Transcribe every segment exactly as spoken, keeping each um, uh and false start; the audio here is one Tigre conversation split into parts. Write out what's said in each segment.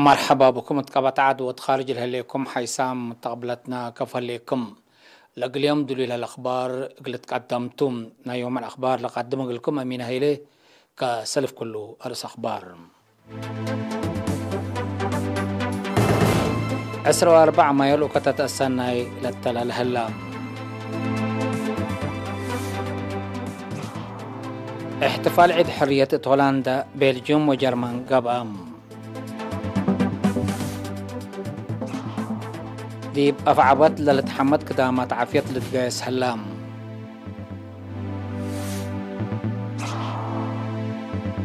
መርሐባ ብኩም እት ቀበት ዐድ ወእት ካርጅ ለህሌኩም ሐይሳም ተቅብለትና ከፍ ህሌኩም። ለእግል ዮም ድሉይ ለህለ አክባር እግል ትቀደምቱ። ናይ ዮም አልአክባር ለቀድም እግልኩም አሚን ሀይሌ። ከሰልፍ ኩሉ አርእስ አክባር። ዕስራ ወአርበዕ ማዮ ልኡከተ ተአሰናይ ለተላለ ህላ። እሕትፋል ዒድ ሕርየት እት ሆላንዳ፣ ቤልጅዩም ወጀርመን ገብአ። ዲብ አፍዐበት ለልትሐመድ ክዳማት ዓፍየት ልትገየስ ህላ።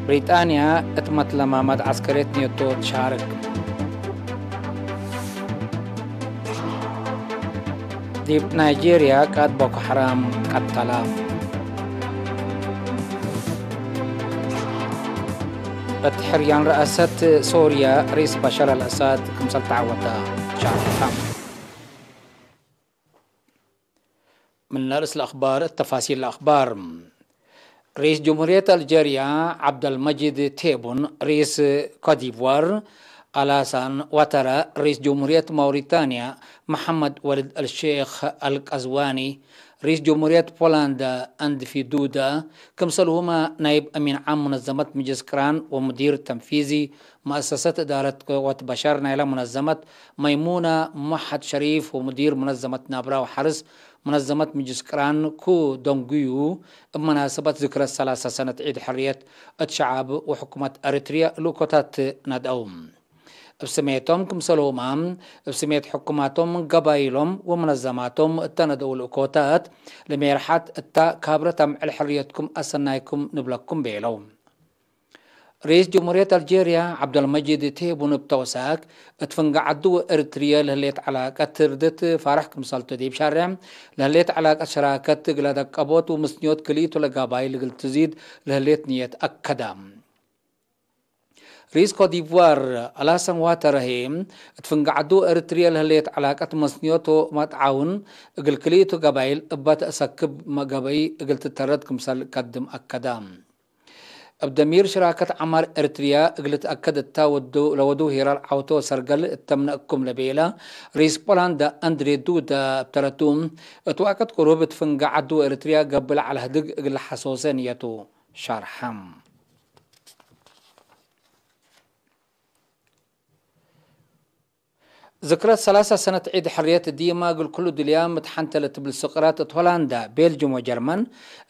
ብሪጣንያ እት መትለማመድ ዐስከርየት ኔቶ ትሻርክ። ዲብ ናይጄርያ ቃድ ቦኮ ሐራም ቀተላ። እት ሕርያን ረአሰት ሶርያ ርኢስ በሸር አልአሳድ ክምሰል ተዐወተ ሻርሐ። ምን ለርእስ ለአክባር እት ተፋሲል ለአክባር። ርኢስ ጀምሁርየት አልጀርያ ዐብደልመጂድ ቴቡን፣ ርኢስ ኮትዲቯር አላሳን ዋተራ፣ ርኢስ ጀምሁርየት ማውሪታንያ መሐመድ ወልድ አልሼክ አልቀዝዋኒ፣ ርኢስ ጀምሁርየት ፖላንዳ አንድፊ ዱዳ፣ ክምሰልሁመ ናይብ አሚን ዓም ሙነዘመት ምጅልስ ቅራን ወሙዲር ተንፊዚ መአሰሰት እዳረት ቅወት በሸር ናይለ ሙነዘመት መይሙና ሙሐድ ሸሪፍ ወሙዲር ሙነዘመት ናብራ ወሐርስ ሙነዘመት ምጅልስ ቅራን ኩ ደንጉዩ፣ እብ መናሰበት ዝክረት ሰላሳ ሰነት ዒድ ሕርየት እት ሸዐብ ወሕኩመት ኤሪትርየ ልኡኮታት ነድአው። እብ ስሜቶም ክምሰልሁመ፣ እብ ስሜት ሕኩማቶም፣ ገባይሎም ወመነዘማቶም እተ ነድአው ልኡኮታት፣ ለሜርሐት እተ ካብረት አምዕል ሕርየትኩም አሰናይኩም ንብለኩም ቤለው። ርኢስ ጀምሁርየት አልጄርያ ዐብደልመጂድ ቴቡን እብ ተውሳክ፣ እት ፍንገ ዐዱ ወኤሪትርየ ለህሌት ዐላቀት ትርድት ፋርሕ ክምሰልቱ ዲብ ሻሬዕ፣ ለህሌት ዐላቀት ሸራከት እግለ ደቀቦት ወምስንዮት ክልኢቱ ለገባይል እግል ትዚድ ለህሌት ንየት አከደ። ርኢስ ኮትዲቯር አላሳን ዋተራ ህዬ፣ እት ፍንገ ዐዱ ወኤሪትርየ ለህሌት ዐላቀት መስንዮት ወመትዓውን እግል ክልኢቱ ገባይል እበ ተአሰክብ ገበይ እግል ትተረድ ክምሰል ቀድም አከደ። እብ ደሚር ሽራከት ዐማር ኤሪትርያ እግል ልትአከድ እተ ወዱ-፣ ለወድው ሄራል ዐውተ ወሰርገል እተምነ እኩም ለቤለ ርኢስ ፖላንዳ አንድሬ ዱዳ እብ ተረቱ፣ እት ወቅት ቅሩብ እት ፍንገ ዐዱ ወኤሪትርያ ገብእ ለዐለ ህድግ እግል ለሐሶሰ ንየቱ ሸርሐ። ዝክረት ሰላሳ ሰነት ዒድ ሕርየት ዲማ እግል ኩሉ ዱልያም እት ሐንተ ለትብል ስቅራት እት ሆላንዳ፣ ቤልጅም ወጀርመን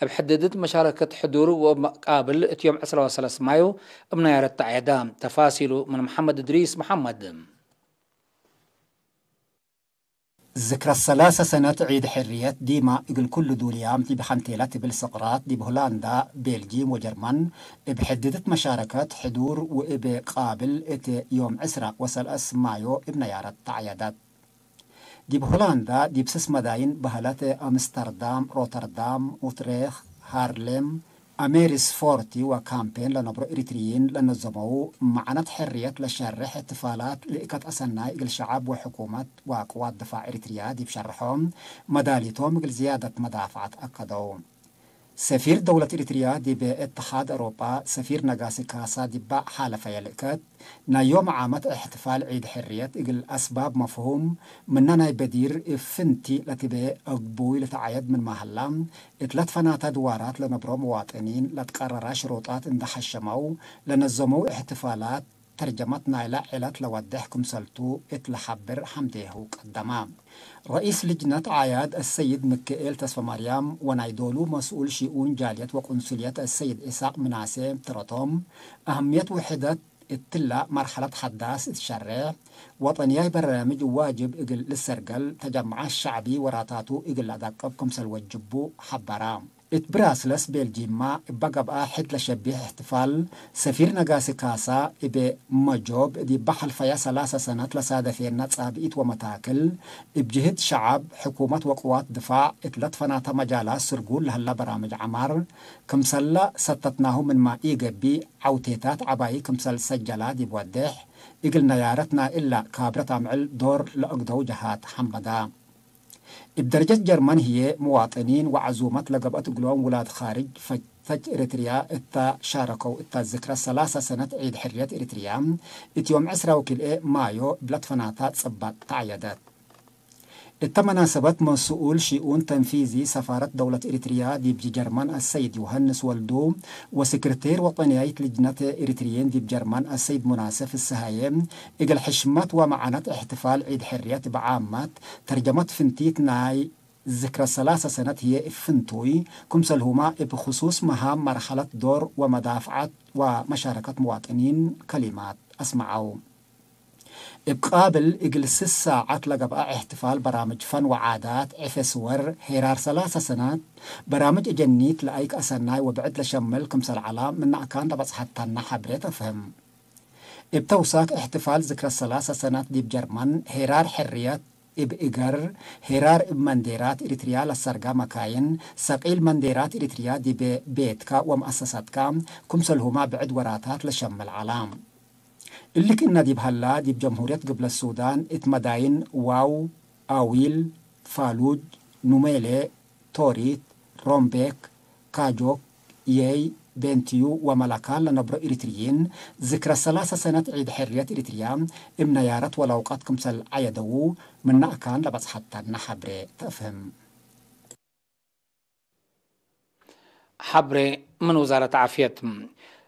እብ ሕድድት መሻረከት ሕዱር ወእብ መቃብል እት ዮም ዕስራ ወሰለስ ማዩ እብ ናያረት ተዐየዳ። ተፋሲሉ ምን መሐመድ እድሪስ መሐመድ። ዝክረ ሰላሰ ሰነት ዒድ ሕርየት ዲማ እግል ኩሉ ዱልያም ዲብ ሐንቴለ ትብል ስቅራት፣ ዲብ ሆላንዳ፣ ቤልጂም ወጀርመን እብ ሕድድት መሻረከት ሕዱር ወእብ ቃብል እት ዮም ዕስራ ወሰለስ ማዮ እብ ነያረት ተዐየደት። ዲብ ሆላንዳ፣ ዲብ ስስ መዳይን በህለት አምስተርዳም፣ ሮተርዳም፣ ኡትሬክ፣ ሃርሌም፣ አሜሪስፎርቲ ወካምፔን ለነብሮ ኤሪትርይን ለነዘመው መዕነት ሕርየት ለሸርሕ እሕትፋላት ልእከት አሰናይ እግል ሸዐብ ወሕኩመት ወቅዋት ድፋዕ ኤሪትርያ ዲብ ሸርሖም መዳሊቶም እግል ዝያደት መዳፍዐት አከደው። ሰፊር ደውለት ኤሪትርያ ዲብ እትሓድ አውሮጳ ሰፊር ነጋሲ ካሳ ዲባ ሓለፈየ ልእከት ናይ ዮም ዓመት እሕትፋል ዒድ ሕርየት እግል አስባብ መፍሁም ምነ ናይ በዲር እብ ፍንቲ ለትቤ አግቡይ ልትዓየድ ምንመ ሀላ፣ እት ለትፈናተ ድዋራት ለነብሮ መዋጥኒን ለትቀረረ ሽሩጣት እንደ ሐሸመው ለነዘመው እሕትፋላት፣ ተርጀመት ናይለ ዐለት ለወዴሕ ክምሰልቱ እት ለሐብር ሐምዴሁ ቀደመ። ረኢስ ልጅነት ዓያድ አሰይድ ምክኤል ተስፈማርያም ወናይ ዶሉ መስኡል ሺኡን ጃልየት ወቁንሱልየት አሰይድ ኢሳቅ ምናሴ ተረቶም፣ አህምየት ውሕደት እትላ መርሐለት ሐዳስ እት ሸሬዕ ወጠንያይ በራምጅ ዋጅብ እግል ልሰርገል፣ ተጀምዐት ሸዕቢ ወራታቱ እግል ለአዳቅብ ክምሰል ወጅቡ ሐበራ። እት ብራስለስ ቤልጂማ እበ ገብአ ሕድ ለሸቢሕ እሕትፋል፣ ሰፊር ነጋሲ ካሳ እብ መጆብ ዲበ ሐልፈየ ሰላሰ ሰነት ለሳደፌነ ጻብኢት ወመታክል፣ እብ ጅህት ሸዐብ፣ ሕኩመት ወቅዋት ድፋዕ እት ለትፈናተ መጃላት ስርጉል ለህለ በራምጅ ዐማር፣ ክምሰለ ሰተትናሁ ምንመ ኢገብእ፣ ዐውቴታት ዐባዪ ክምሰል ሰጀላ ዲብ ወዴሕ፣ እግል ነያረት ናይ እላ ካብረት አምዕል ዶር ለአግደው ጀሃት ሐመዳ። እብ ደረጀት ጀርመን ህዬ፣ ምዋጥኒን ወዐዙመት ለገብአት እግሎም ውላድ ካርጅ ፈጅ ፈጅ ኤሪትርያ እተ ሻረከው እተ ዝክረ ሰላሰ ሰነት ዒድ ሕርየት ኤሪትርያ፣ እት ዮም ዕስራ ወክልኤ ማዮ እብ ለትፈናተ ጽባጥ ተዐየደት። እተ መናሰበት መስኡል ሽኡን ተንፊዚ ሰፋረት ደውለት ኤሪትርያ ዲብ ጀርመን አሰይድ ዮሐንስ ወልዱ ወሰክርቴር ወጠንያይት ልጅነት ኤሪትርየን ዲብ ጀርመን አሰይድ ሙናስፍ ፍስሃየ፣ እግል ሕሽመት ወመዓነት እሕትፋል ዒድ ሕርየት እብ ዓመት ተርጀመት ፍንቲት ናይ ዝክረ ሰላሰ ሰነት ህዬ እብ ፍንቱይ፣ ክምሰልሁመ እብ ክሱስ መሃም መርሐለት ዶር ወመዳፍዐት ወመሻረከት መዋጥኒን ከሊማት አስመዐው። እብ ቃብል እግል ስስ ሳዐት ለገብአ እሕትፋል በራምጅ ፈን ወዓዳት፣ ዕፌ ስወር፣ ሄራር ሰላሰ ሰነት፣ በራምጅ እጀኒት ለአይክ አሰናይ ወብዕድ ለሸምል ክምሰል ዐለ፣ ምነ አካን ለበጽሐተነ ሐብሬ ተፍህም። እብ ተውሳክ እሕትፋል ዝክረ ሰላሰ ሰነት ዲብ ጀርመን፣ ሄራር ሕርየት እብ እገር፣ ሄራር እብ መንዴራት ኤሪትርያ ለሰርጋ መካይን፣ ሰቂል መንዴራት ኤሪትርያ ዲብ ቤትከ ወመአሰሰትከ፣ ክምሰልሁመ ብዕድ ወራታት ለሸምል ዐለ። እሊ ክእነ ዲብ ሀላ፣ ዲብ ጀምሁርየት ግብለት ሱዳን እት መዳይን ዋው፣ አዊል፣ ፋሉጅ፣ ኑሜሌ፣ ቶሪት፣ ሮምቤክ፣ ካጆክ፣ የይ፣ ቤንትዩ ወመለካን ለነብሮ ኤሪትርይን፣ ዝክረ ሰላሰ ሰነት ዒድ ሕርየት ኤሪትርያ እብ ነያረት ወለውቀት ክምሰል ዐየደዉ፣ ምነ አካን ለበጽሐተነ ሐብሬ ተፍህም። ሐብሬ ምን ውዛረት ዓፍየት።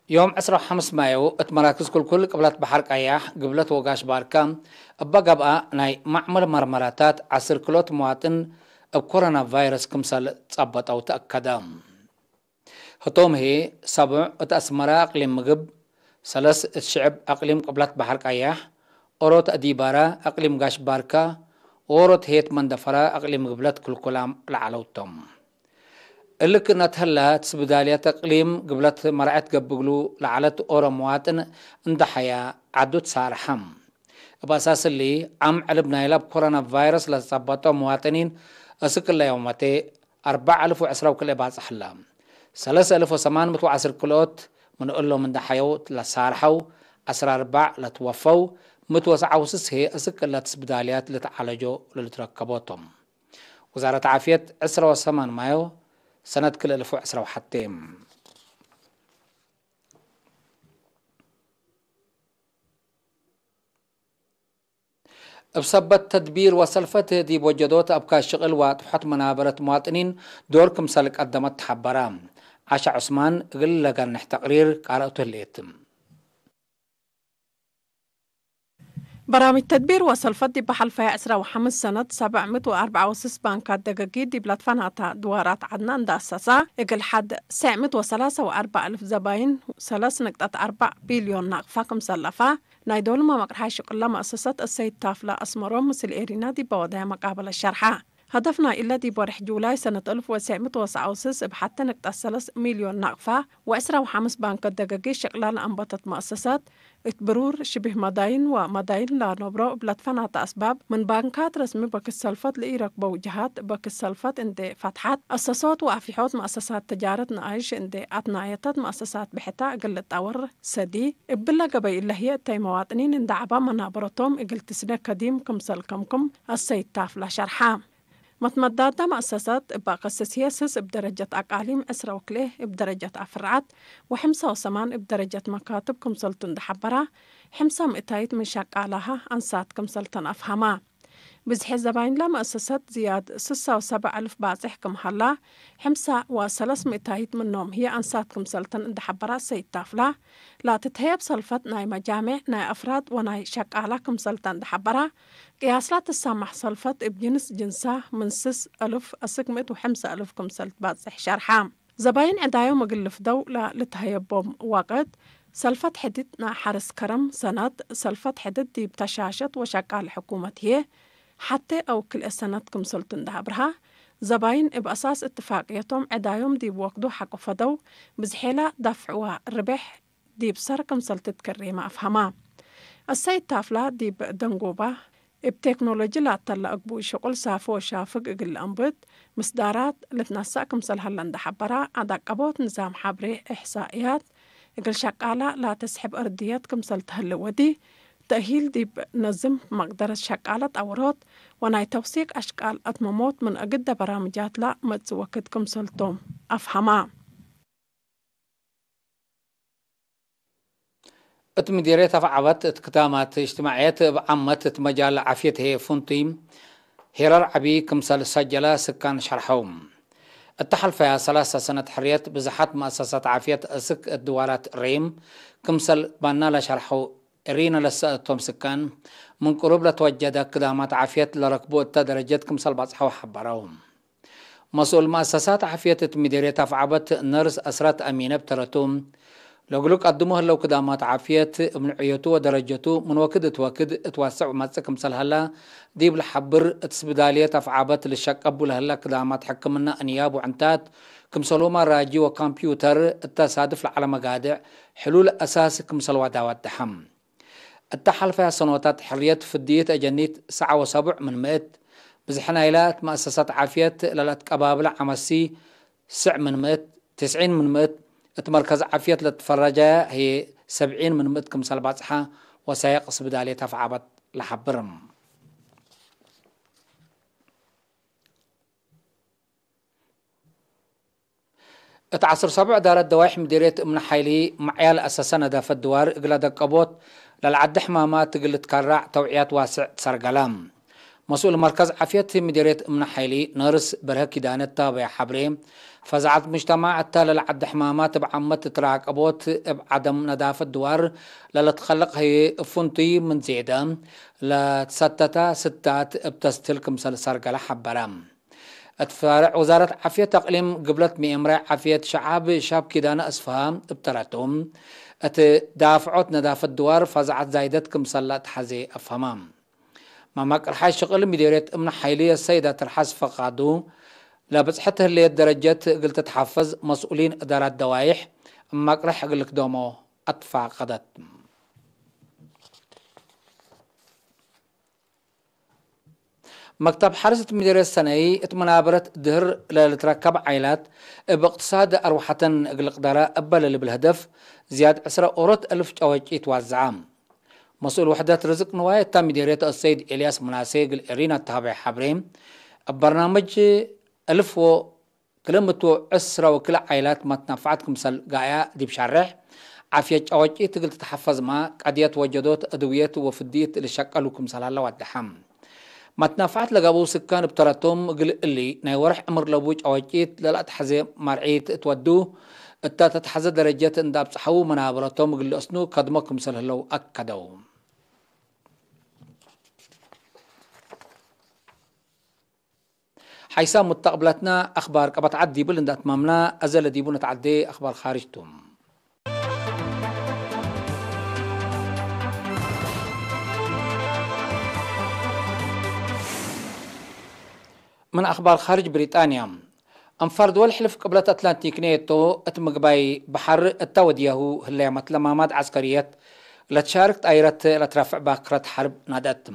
ዮም ዕስራ ወሐምስ ማዮ እት መራክዝ ክልኩል ቅብለት በሐር ቀያሕ፣ ግብለት ወጋሽ ባርከ እበ ገብአ ናይ ማዕመል መርመራታት ዐስር ክሎት መዋጥን እብ ኮሮና ቫይረስ ክምሰል ጸበጠው ተአከደ። ህቶም ህዬ፣ ሰቡዕ እት አስመረ አቅሊም ምግብ፣ ሰለስ እት ሽዕብ አቅሊም ቅብለት በሐር ቀያሕ፣ ኦሮት አዲባረ አቅሊም ጋሽ ባርከ፣ ኦሮት ህዬት መንደፈረ አቅሊም ግብለት ክልኩላም ለዐለው ቶም። እሊ ክእነት ህለ፣ ትስብዳልየት እቅሊም ግብለት መርዐት ገብእ እግሉ ለዐለት ኦሮ መዋጥን እንደ ሐያ ዐዱ ትሳርሐ። እብ አሳስ እሊ፣ ዓም ዕልብ ናይለ እብ ኮሮና ቫይረስ ለትጸበጦ መዋጥኒን እስክ እለ ዮመቴ አርበዕ አልፍ ወዕስራ ወክልኤ ባጽሕ ህለ። ሰለስ አልፍ ወሰማን ምእት ወዐስር ክልኦት ምን እሎም እንደ ሐየው ለሳርሐው፣ ዐስራ አርበዕ ለትወፈው፣ ምእት ወሰብዓ ወስስ ህዬ እስክ እለ ትስብዳልያት ልትዓለጆ ለልትረከቦ ቶም። ውዛረት ዓፍየት፣ ዕስራ ወሰማን ማዮ ሰነት ክልኤ አልፍ ወዕስራ ወሐቴ። እብ ሰበት ተድቢር ወሰልፈት ዲብ ወጀዶት አብካይ ሽቅል ወአጥፍሖት መናበረት መዋጥኒን ዶር ክምሰል ቀደመት ተሐበረ። ዓሻ ዑስማን እግል ለገንሕ ተቅሪር ቃርአቱ ህሌት። በራምጅ ተድቢር ወሰልፈት ዲብ ሐልፈየ ዕስራ ወሐምስ ሰነት ሰብዕ ምእት ወአርበዕ ወስስ ባንካት ደገጊ ዲብ ለትፈናተ ድዋራት ዐድነ እንደ አሰሰ፣ እግል ሐድ ሰዕ ምእት ወሰላሰ ወአርበዕ አልፍ ዘባይን ሰለስ ንቅጠት አርበዕ ቢልዮን ናቅፋ ክም ሰለፈ፣ ናይ ዶል መመቅርሓይ ሽቅለ መአሰሰት እሰይድ ታፍለ አስመሮም ምስል ኤሪና ዲበ ወደየ መቃበለት ሸርሐ። ሀደፍ ናይ እለ ዲብ ወርሕ ጁላይ ሰነት አልፍ ወትሰዕ ምእት ወሰብዓ ወስስ እብ ሐቴ ንቅጠት ሰለስ ሚልዮን ናቅፋ ወዕስራ ወሐምስ ባንከት ደገጊ ሽቅለ ለአንበተት መአሰሰት፣ እት ብሩር ሽብህ መዳይን ወመዳይን ለነብሮ እብ ለትፈናተ አስባብ፣ ምን ባንካት ረስሚ በክት ሰልፈት ለኢረክበው ጀሃት በክት ሰልፈት እንዴ ፈትሐት፣ አሰሶት ወአፊሖት መአሰሳት ተጃረት ነአይሽ እንዴ አትናየተት መአሰሳት ብሕታ እግል ልጣወር ሰዲ፣ እብለ ገበይ እለ ህዬ እተይ መዋጥኒን እንደ ዐባ መናበረቶም እግል ትስደ ከዲም ክምሰል ከምክም አሰይድ ታፍላ ሸርሐ። መትመዳዳ መአሰሰት እበ አቀስስ ህዬ ስስ እብ ደረጀት አቃሊም፣ ዕስራ ወክልኤ እብ ደረጀት አፍርዓት ወሐምሳ ወሰማን እብ ደረጀት መካትብ ክምሰልቱ እንደ ሐበራ፣ ሕምሳ ምእታይት ምን ሸቃላሀ አንሳት ክምሰልተን አፍሀማ። ብዝሐ ዘባይንለ መአሰሰት ዝያድ ስሳ ወሰብዕ አልፍ ባጽሕ ክም ሀላ፣ ሕምሳ ወሰለስ ምእታይት ምኖም ህዬ አንሳት ክምሰልተን እንደ ሐበራ ሰይድ ታፍላ፣ ላትትሀየብ ሰልፈት ናይ መጃሜዕ፣ ናይ አፍራድ ወናይ ሸቃላ ክምሰልተ እንደ ሐበራ፣ ቅያስላ ትሰማሕ ሰልፈት እብ ጅንስ ጅንሳ ምን ስስ አልፍ አስክ ምእት ወሐምሳ አልፍ ክምሰል ትባጽሕ ሸርሐ። ዘባይን ዕዳዮም እግል ልፍደው ለልትሀየቦም ወቅት፣ ሰልፈት ሕድት ናይ ሐርስ ከረም ሰነት፣ ሰልፈት ሕድት ዲብ ተሻሸት ወሸቃል ሕኩመት ህዬ፣ ሐቴ አው ክልኤ ሰነት ክምሰልቱ እንደ አብርሃ፣ ዘባይን እብ አሳስ እትፋቅየቶም ዕዳዮም ዲብ ወክዱ ሐቆ ፈደው፣ ብዝሔላ ዳፍዕዋ ርቤሕ ዲብ ሰር ክምሰል ትትከሬመ አፍሀማ። አሰይድ ታፍላ ዲብ ደንጎባ፣ እብ ቴክኖሎጂ ላተለ አግቡይ ሽቁል ሳፎ ወሻፍግ እግል ለአንብት ምስዳራት ልትነሰእ ክምሰል ሀለ እንደ ሐበራ፣ አዳቀቦት ንዛም ሐብሬ እሕሳእያት እግል ሸቃላ ላተስሕብ እርድየት ክምሰል ተህሌ ወዲ፣ ተእሂል ዲብ ነዝም መቅደረት ሸቃለ ጠወሮት ወናይ ተውሲቅ አሽቃል አትመሞት ምን አግደ በራምጃትላ መጽእ ወክድ ክምሰልቶም አፍሀማ። እት ምዴርየት አፍዐበት እት ክዳማት እጅትማዕየት እብ ዓመት እት መጃል ዓፍየት ህዬ ፍንቱይ ሄራር ዐቢ ክምሰል ሰጀለ ስካን ሸርሐው። እተ ሐልፈያ ሰላሰ ሰነት ሕርየት ብዝሓት መአሰሳት ዓፍየት እስክ እት ድዋላት ሬም ክምሰል ባና ለሸርሐው፣ እሪነ ለሰአቶም ስካን ምን ቅሩብ ለትወጀደ ክዳማት ዓፍየት ለረክቡ እተ ደረጀት ክምሰል ባጽሐው ሐበረው። መስኡል መአሰሳት ዓፍየት እት ምዴርየት አፍዐበት ነርስ አስራት አሚነ እብ ተረቱ፣ ለእግሉ ቀድሞ ህለው ክዳማት ዓፍየት እብ ንዕየቱ ወደረጀቱ ምን ወክድ እት ወክድ እት ዋስዕ መጽእ ክምሰል ሀላ ዲብ ለሐብር፣ እት ስብዳልየት አፍዐበት ልሸቀቡ ለህለ ክዳማት ሕክምና እንያብ ወዕንታት ክምሰልሁመ ራጂ ወካምፕዩተር እተ ሳድፍ ለዐለ መጋድዕ ሕሉል አሳስ ክምሰል ዋዳ ወደሐ። እተ ሐልፈያ ሰኖታት ሕርየት ፍድይት አጀኒት ሰዓ ወሰቡዕ ምን ምእት፣ ብዝሐ ናይላ እት መአሰሳት ዓፍየት ለለአትቀባብለ ዐመሲ ስዕ ምን ምእት፣ ትስዒን ምን ምእት፣ እት መርከዝ ዓፍየት ለትፈረጃያ ህዬ ሰብዒን ምን ምእት ክምሰል ባጽሐ ወሳይቅ ስብዳልየት አፍዐበት ለሐብር። እት ዐስር ሰቡዕ እዳረት ደዋይሕ ምዲርየት እምነ ሓይሊ፣ መዕያል አሰሰ ነዳፈት ድዋር እግለ ደቀቦት ለልዓዲ ሕማማት እግል ልትከራዕ ተውዕያት ዋስዕ ትሰርገለ። መስኡል መርከዝ ዓፍየት ምዲርየት እምነ ሓይሊ፣ ነርስ በርሀ ኪዳነ እተ ሀበየ ሐብሬ፣ ፈዛዐት ሙጅተማዕ እተ ለልዓዲ ሕማማት እብ ዓመት ትራቀቦት እብ ዐደም ነዳፈት ድዋር ለልትከለቅ ህዬ፣ እብ ፍንቱይ ምን ዜደ ለትሰተተ ስታት እብ ተስትል ክምሰል ሰርገለ ሐበረ። እት ፈርዕ ውዛረት ዓፍየት አቅሊም ግብለት ምኤምራይ ዓፍየት ሸዓብ ሻብ ኪዳነ አስፍሃ እብ ተረቱ፣ እት ዳፍዖት ነዳፈት ድዋር ፈዛዐት ዛይደት ክምሰል ለአትሐዜ አፍሀመ። መማቅር ሓይ ሽቅል ምዲርየት እምነ ሓይሊ አሰይድ አትርሐስ ፈቃዱ፣ ለብጽሐት ህሌት ደረጀት እግል ትትሐፈዝ መስኡሊን እዳራት ደዋይሕ እማቅርሕ እግል ልክደሞ አትፋቀደት። መክተብ ሐርስ እት ምዲርየት ሰነይ፣ እት መናበረት ድህር ለልትረከብ ዓይላት፣ እብ እቅትሳድ አርወሐተን እግል ልቅደረ እበ ለልብል ህደፍ፣ ዝያድ ዕስረ ኦሮት እልፍ ጨወጪ ትዋዘዐ። መስኡል ወሕደት ርዝቅ ንዋይ እተ ምዲርየት አሰይድ ኤልያስ ምናሴ እግል ኤሪና እተ ሀበየ ሐብሬ፣ እብ በርናምጅ እልፍ ወ ክልምቱ ዕስረ ወክልኤ ዓይላት መትነፈዐት ክምሰል ጋያ ዲብ ሸሬሕ፣ ዓፍየት ጨወጪት እግል ትትሐፈዝመ፣ ቀድየት ወጀዶት፣ አድውየት ወፍድይት ልሸቀሉ ክምሰል ሀለ ወደሐ። መትነፈዐት ለገብኡ ስካን እብ ተረቶም፣ እግል እሊ ናይ ወርሕ ዕምር ለቡ ጨወጪት ለለአትሐዜ መርዒት እት ወዱ፣ እተ ተትሐዘ ደረጀት እንደ አብጽሐዉ መናበረቶም እግል ልአስኑ ከድሞ ክምሰል ህለው አከደው። ሓይሳም ሙተቅብለትነ አክባር ቀበት ዐድ ዲብል እንደ አትማምነ፣ አዘ ለዲቡ ነትዐዴ አክባር ካርጅ ቱ። ምን አክባር ካርጅ ብሪጣንያ፣ አንፋር ድወል ሕልፍ ቅብለት አትላንቲክ ኔቶ እት ምግባይ በሐር እተ ወድያሁ ህለየ መትለማማት ዐስከርየት ለትሻርክ ጣይረት ለትረፍዕ ባክረት ሐርብ ናድአት።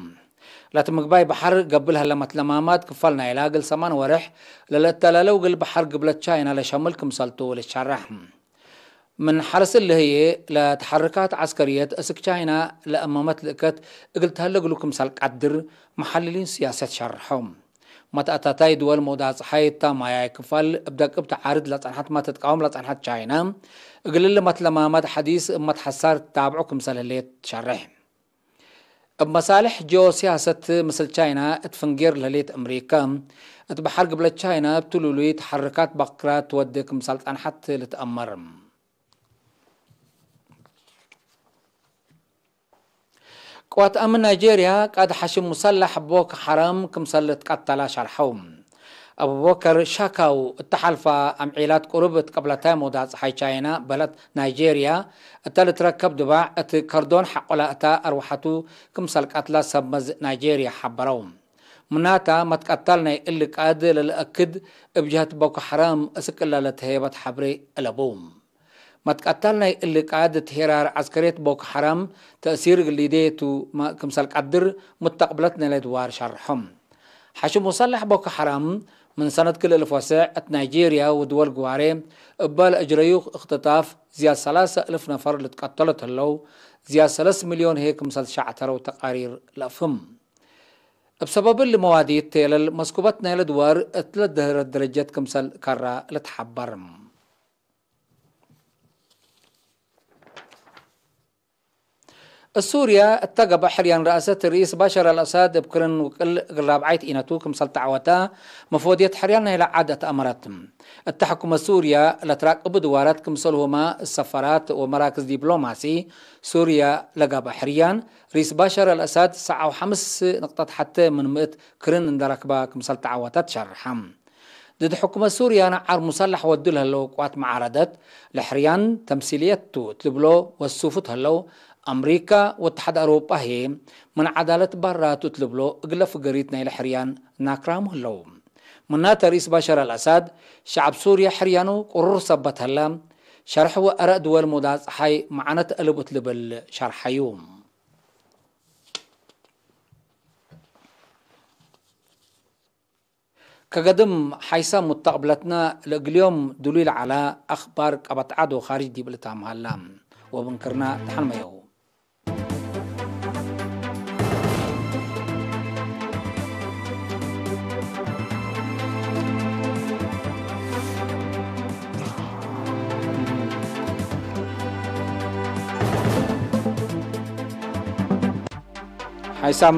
ለትምግባይ በሐር ገብእ ለህለ መትለማማት ክፋል ናይላ እግል ሰማን ወሬሕ ለልአተላለው እግል በሐር ግብለት ቻይና ለሸምል ክምሰልቱ ልትሸረሕ። ምን ሐርስ እሊ ህዬ፣ ለተሐርካት ዐስከርየት እስክ ቻይና ለአመመት ልእከት እግል ተህለ እግሉ ክምሰል ቀድር መሐልሊን ስያሰት ሸርሖ። መትአታታይ ድወል መውዳጽ ጸሓይ እታ ማያይ ክፋል እብ ደቅብ ተዓርድ ለጸንሐት መ ትትቃወም ለጸንሐት ቻይና፣ እግል እሊ መትለማማት ሐዲስ እብ መትሐሳር ትታብዖ ክምሰል ህሌት ትሸርሕ። እብ መሳልሕ ጂኦሲያሰት ምስል ቻይና እት ፍንጌር ለህሌት አምሪከ፣ እት በሐር ግብለት ቻይና እብ ትሉሉይ ተሐርካት በክራት ትወዴ ክምሰል ጸንሐት ልትአመር። ቅዋት አምን ናይጄርያ ቃእድ ሐሽም ሙሰለሕ ቦኮ ሐራም ክምሰል ልትቀተለ ሸርሐው። አቡበከር ሻካው እተ ሐልፈ አምዒላት ቅሩብ እት ቅብለታይ መውዳጽ ጸሓይ ቻይና በለት ናይጄርያ እተ ልትረከብ ድባዕ እት ከርዶን ሐቆለ እተ አርወሐቱ ክምሰል ቀትለ ሰብ መዝ ናይጄርያ ሐበረው። ምናተ መትቀታል ናይ እሊ ቃእድ ለልአክድ እብ ጀህት ቦኮ ሐራም እስክ እለ ለትሀየበት ሐብሬ አለቡ። መትቀታል ናይ እሊ ቃእድ እት ሄራር ዐስከርየት ቦኮ ሐራም ተእሲር እግል ሊዴ ቱ ክምሰል ቀድር ሙተቅብለት ናይለ ድዋር ሸርሖም። ሐሽም ሙሰለሕ ቦኮ ሐራም ምን ሰነት ክልኤ እልፍ ወሰዕ እት ናይጄርያ ወድወል ግዋሬ እበ ለአጅረዩ እክትጣፍ ዝያድ ሰላሰ እልፍ ነፈር ልትቀተሎ እት ህለው፣ ዝያድ ሰለስ ሚልዮን ህዬ ክምሰል ሸዕተረው ተቃሪር ለአፍህም። እብ ሰበብ እሊ መዋዲት ቴለል መስኩበት ናይለ ድዋር እት ለደህረት ደረጀት ክምሰል ከራ ልትሐበር። እት ሱርየ እተ ገብአ ሕርያን ረአሰት ርኢስ ባሻር አልአሳድ እብ ክርን ውቅል እግል ራብዓይት ኢነቱ ክምሰል ተዐወተ መፎድየት ሕርያን ናይለ ዐድ አትአመረት። እተ ሕኩመት ሱርየ ለትራቅቡ ድዋራት ክምሰልሁመ ሰፈራት ወመራክዝ ዲፕሎማሲ ሱርየ ለገብአ ሕርያን ርኢስ ባሻር አልአሳድ ሰዓው ሐምስ ንቅጠት ሐቴ ምን ምእት ክርን እንደ ረክበ ክምሰል ተዐወተ ትሸርሐ። ድድ ሕኩመት ሱርያ ነዓር ሙሰለሕ ወዱ ለህለው ቅዋት መዓረደት፣ ለሕርያን ተምሲልየት ቱ እት ልብሎ ወሱፉት ህለው፣ አምሪካ ወእትሓድ አውሮጳ ህዬ ምን ዐዳለት ባራቱ እት ልብሎ እግለ ፍገሪት ናይለ ሕርያን ናክራሙ ህለው። ምናተ ርኢስ ባሻር አልአሳድ፣ ሸዐብ ሱርያ ሕርያኑ ቅሩር ሰበት ህለ፣ ሸርሕ ወአረእ ድወል ሞዳ ጸሓይ መዓነት አለቡ እት ልብል ሸርሐዩ። ከገድም ሓይሳም ሙተቅብለትነ ለእግልዮም ዱሉይ ለዐለ አክባር ቀበት ዐድ ወካርጅ ዲብ ልታምሀላ ወብንክርና ተሐንመየው። ሓይሳም